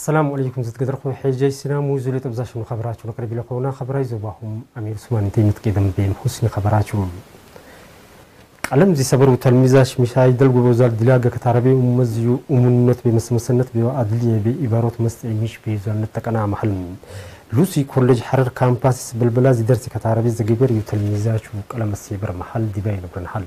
ሰላም ዓለይኩም ዝትገደርኹም ሕጃይ ሲናሙ ዙሌ ጠብዛሽኑ ኸበራችሁ ለቅርብ ለኾና ኸበራይ ዞባኹም ኣሚር ሱማን እንተይ ምትቄደም ቤም ሁስኒ ኸበራችሁ። ቀለም ዚሰበሩ ተልሚዛሽ ሚሻይ ደልጉ በዛል ድላገ ከታረቤ ኡመዝዩ ኡሙነት ቤመስመሰነት ቤዋ ኣድልየ ቤ ኢባሮት መስጥ ሚሽ ቤዛነት ተቀና መሐል ሉሲ ኮሌጅ ሐረር ካምፓስ በልበላ ዚደርሲ ከታረቤ ዘገበር እዩ ተልሚዛችሁ ቀለም ኣሴበር መሐል ዲባይ ነብረን ሐል።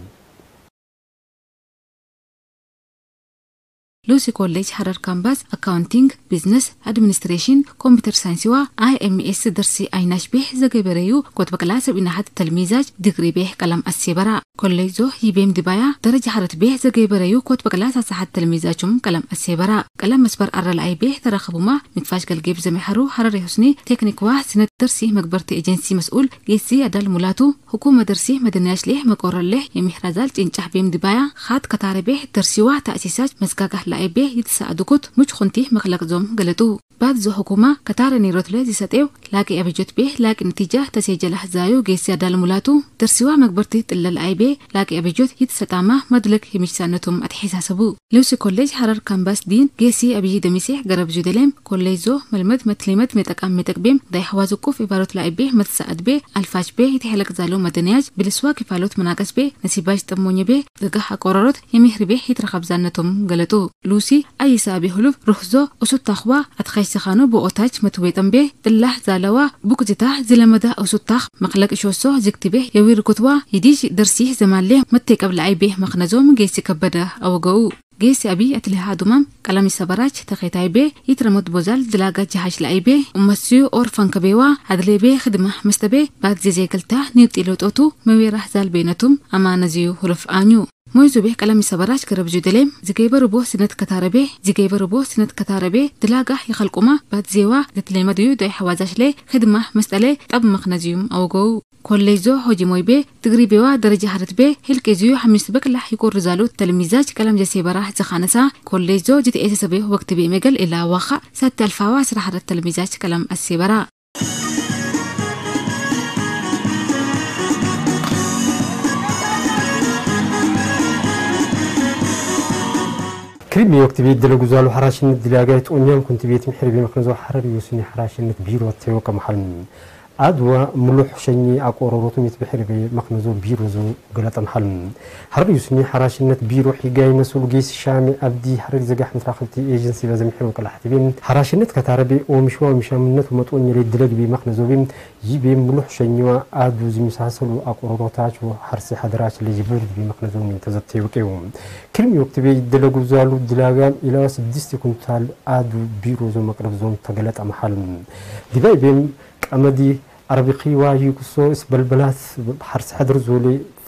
ሉሲ ኮሌጅ ሐረር ካምፓስ ኣካውንቲንግ፣ ቢዝነስ ኣድሚኒስትሬሽን፣ ኮምፒውተር ሳይንስዋ ኣይኤምኤስ ደርሲ ኣይናሽ ቤህ ዘገበረዩ ኮት በቅላ ሰብ ኢናሐት ተልሚዛጅ ዲግሪ ቤህ ቀለም ኣሴበራ። ኮሌጅ ዞ ይቤም ዲባያ ደረጃ ሐረት ቤህ ዘገበረዩ ኮት በቅላ ሳሳሐት ተልሚዛቹም ቀለም ኣሴበራ። ቀለም መስበር ኣረልኣይ ቤህ ተረኸቡማ ንፋሽ ገልጌብ ዘመሐሩ ሐረር የሁስኒ ቴክኒክዋ ስነት ደርሲ መግበርቲ ኤጀንሲ መስኡል ጌሲ ኣዳል ሙላቱ፣ ሁኩመ ደርሲ መደንያሽ ሌህ መቆረሌህ የሚሕራዛል ጭንጫሕ ቤም ድባያ ኻት ከታረቤህ ደርሲዋ ተእሲሳች መዝጋጋህ ላይቤህ ይትሰኣድኩት ሙች ኹንቲ መኽለቅ ዞም ገለጡ። ባድ ዞ ሁኩማ ከታረ ኒሮትለ ዚሰጤው ላቂ ኣበጆት ቤህ ላቂ ንቲጃ ተሴጀላህ ዛዩ ጌሲ ኣዳል ሙላቱ፣ ደርሲዋ መግበርቲ ጥለል ኣይቤ ላቂ ኣበጆት ይትሰጣማ መድለክ የሚችሳነቱም ኣትሒሳሰቡ። ሉሲ ኮሌጅ ሐረር ካምባስ ዲን ጌሲ ኣብዪ ደሚሴሕ ገረብ ዙደሌም ኮሌጅ ዞ መልመድ መትሊመት ሜጠቃም ሜጠቅቤም ዳይ ሐዋዝ ቁፍ ኢባሮት ላይቤ መትሰኣድ ቤ ኣልፋች ቤ ይትሐለቅ ዛሎ መደንያጅ ብልስዋ ኪፋሎት መናቀስ ቤ ነሲባጅ ጠሞኘ ቤ ገጋሕ ኣቆረሮት የሚህሪ ቤ ይትረኸብ ዛነቶም ገለጡ። ሉሲ ኣይሳ ቤ ሁሉፍ ሩህዞ ኡሱታኽዋ ኣትኸሽ ዝኻኑ ብኦታች መትዌጠም ቤ ጥላሕ ዛለዋ ቡቅዚታ ዝለመዳ ኡሱታኽ መኽለቅ ሾሶ ዝግቲ ቤ የዊርኩትዋ ይዲጅ ደርሲህ ዘማሌ መቴቀብ ለኣይ ቤ መኽነዞም ጌሲ ከበደ ኣወገኡ። ጌሲ ኣቢ ኣትሊሃ ዱማም ቀላሚ ሰበራች ተኼታይ ቤ ይትረሞት ቦዛል ድላጋ ጀሃሽ ለኣይ ቤ ኡመስዩ ኦር ፈንከቤዋ ኣድሌ ቤ ኽድማ መስተቤ ባድ ዜዜገልታ ኒውጢ ለውጦቱ መዌራህ ዛል ቤነቱም ኣማነዝዩ ሁለፍ ኣኙ። ሞይዙ ቤ ቀላሚ ሰበራች ገረብ ዙደሌም ዝገይበሩ ቦ ስነት ከታረቤ ዝገይበሩ ቦ ስነት ከታረቤ ድላጋ ይኸልቁማ ባድ ዜዋ ዘትሌመድዩ ዶይ ሐዋዛሽሌ ኽድማ መስጠሌ ጠብ መኽነዝዩም ኣወገው። ኮሌጅ ዞ ሆጂ ሞይ ቤ ትግሪ ቤዋ ደረጃ ሐረት ቤ ህልቂ ዝዩ ሐሚስ በቅላሕ ይቆሪ ዛሉ ተልሚዛች ቀለም ጀሴበራ ዝኻነሳ ኮሌጅ ዞ ጅትኤ ተሰቤ ወቅት ቤ መገል ኢላ ዋኻ ሳቲ ኣልፋዋ ስራ ሐረት ተልሚዛች ቀለም ኣሴበራ። ክሪም ወቅት ቤት ደለጉ ዛሉ ሐራሽነት ድላጋይ ጦኛም ኩንቲ ቤት ምሕር ቤ መክነዞ ሐረር ዩስኒ ሐራሽነት ቢሮ ተወቀ መሐል ኣድዋ ምሉሕ ሸኚ ኣቆሮሮቱ ሚት ብሕሪ ቤ መኽነዞ ቢሮ ዞ ገለጠ መሐል። ሐረር ዩስኒ ሐራሽነት ቢሮ ሒጋይ መሱል ጌስ ሻሚ ኣብዲ ሐረር ዘጋሕ ምትራኽብቲ ኤጀንሲ በዘምሕር ወቀላሕቲ ቤ ሐራሽነት ከታረቤ ኦምሽዋ ምሻምነት መጦኝ ሬ ድለግ ቤ መኽነዞ ቤ ይቤ ምሉሕ ሸኚዋ ኣዱ ዝሚሳሰሉ ኣቆሮሮታች ሐርሲ ሐደራች ለጅብርድ ቤ መኽነዞ ሚን ተዘተይ ወቄው። ክልሚ ወቅት ቤ ይደለጉ ዛሉ ድላጋም ኢላዋ ስድስቲ ኩንታል ኣዱ ቢሮ ዞ መቅረብ ዞም ተገለጠ መሐል። ዲባይ ቤም ቀመዲ ኣረቢኺዋ ይኩሶ እስበልበላት ሐርሲ ሐድር ዞሌ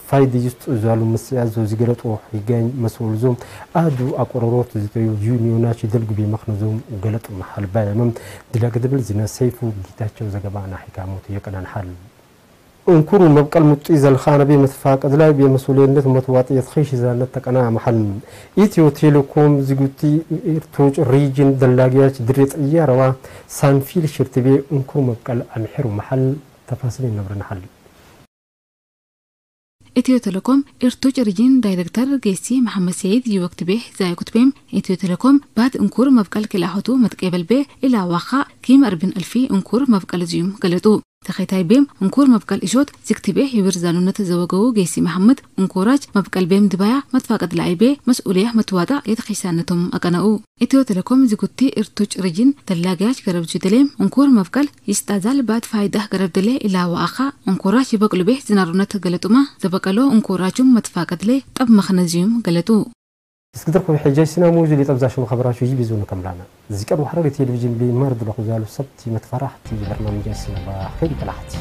ፋይድ ይስጡ ዛሉ ምስያ ዞ ዝገለጦ ይገኝ መስኡል ዞም ኣዱ ኣቆሮሮት ዝተዩ ዩኒዮናች ይደልጉ ቤ መኽነ ዞም ገለጥ መሐል ባየመም ድላገ ድብል ዝነ ሰይፉ ጊታቸው ዘገባና ሒካሞት የቀናን ሐል። እንኩሩ መብቀል ሙጢ ዘልኻነ ቤ መትፋቀድላይ ቤ መሱልየነት መትዋጥየት ኺሽ ዛነት ተቀና መሐል። ኢትዮ ቴሌኮም ዝጉቲ ኢርቶጭ ሪጅን ደላጊያች ድሬ ጥያረዋ ሳንፊል ሽርትቤ እንኩሩ መብቀል ኣምሕሩ መሐል ተፋስል ይነብርንሐል። ኢትዮ ቴሌኮም ኢርቶጭ ሪጅን ዳይሬክተር ጌሲ መሐመድ ሰይድ ይወክት ቤ ዛይኩት ቤም ኢትዮ ቴሌኮም ባድ እንኩር መብቀል ኪልኣኸቱ መትቄበል ቤ ኢላዋኻ ኪም ኣርብን እልፊ እንኩር መብቀል ዝዩም ገለጡ። ተኸታይ ቤም እንኩር መብቀል እሾት ዝክትቤ ይብር ዛኑነት ዘወገው ጌሲ መሐመድ እንኩራች መብቀል ቤም ድባያ መትፋቀድ ለኣይ ቤ መስኡልያ መትዋጣ የተኺሳነቶም ኣቀነኡ። ኢትዮ ቴሌኮም ዝጉቲ እርቱጭ ርጅን ተላጋያች ገረብ ዙደሌም እንኩር መብቀል ይስጣዛል ባት ፋይዳህ ገረብ ደሌ ኢላዋ ኣኻ እንኩራች ይበቅሉ ቤ ዝናሩነት ገለጡማ ዘበቀሎ እንኩራቹም መትፋቀድ ሌ ጠብ መኽነዚዩም ገለጡ። እስክድርኩም ሕጃይ ሲና ሙዙ ሊጠብዛሽም ኸበራችሁ ይቢዙ ንከምላና። ዝቀርቡ ሐረሪ ቴሌቪዥን ቢማር ድለኹ ዛሉ ሰብቲ መትፈራሕቲ በርናምጃይ ሲና ባኸይ ይበላሕቲ።